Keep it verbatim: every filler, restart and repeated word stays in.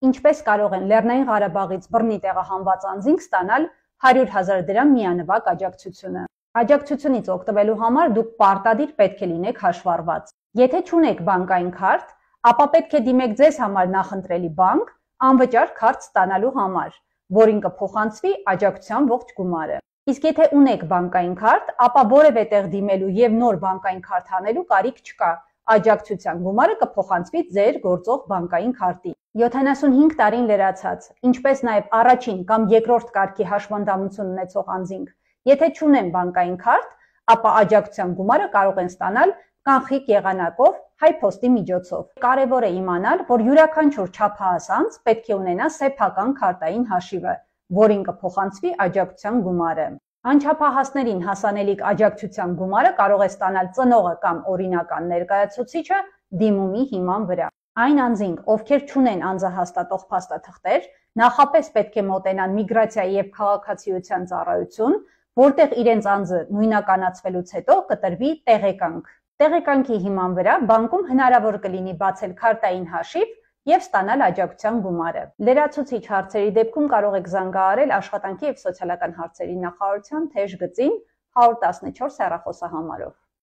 Ինչպես կարող են Լեռնային Ղարաբաղից բռնի տեղահանված անձինք ստանալ հարյուր հազար դրամ միանվագ աջակցությունը։ Աջակցությունից օգտվելու համար դուք պարտադիր պետք է լինեք հաշվառված։ Եթե չունեք բանկային քարտ, ապա պետք է դիմեք ձեզ համար նախընտրելի բանկ անվճար քարտ ստանալու համար, որին կփոխանցվի աջակցության ողջ գումարը։ Իսկ եթե ունեք բանկային քարտ, ապա որևէ տեղ դիմելու եւ նոր բանկային քարտ հանելու կարիք չկա։ Աջակցության գումարը կփոխանցվի ձեր գործող բանկային քարտին։ յոթանասունհինգ տարին լրացած, ինչպես նաև առաջին կամ երկրորդ կարգի հաշվանդամություն ունեցող անձինք, եթե չունեն բանկային քարտ, ապա աջակցության գումարը կարող են ստանալ կանխիկ եղանակով հայփոստի միջոցով։ Կարևոր է իմանալ, որ յուրաքանչյուր չափահաս անձ պետք է ունենա սեփական քարտային հաշիվը, որին կփոխանցվի աջակցության գումարը։ Անչափահասներին հասանելիք աջակցության գումարը կարող է ստանալ ծնողը կամ օրինական ներկայացուցիչը դիմումի հիման վրա։ Այն անձինք, ովքեր չունեն անձահաստատող փաստաթղթեր, նախապես պետք է մոտենան միգրացիայի եւ քաղաքացիության ծառայություն, որտեղ իրենց անձը նույնականացվելուց հետո կտրվի տեղեկանք։ Տեղեկանքի հիման վրա բանկում հնարավոր կլինի բացել քարտային հաշիվ եւ ստանալ աջակցության գումարը։ Լրացուցիչ հարցերի դեպքում կարող եք զանգահարել Աշխատանքի եւ սոցիալական հարցերի նախարարության թեժ գծին հարյուր տասնչորս հեռախոսահամարով։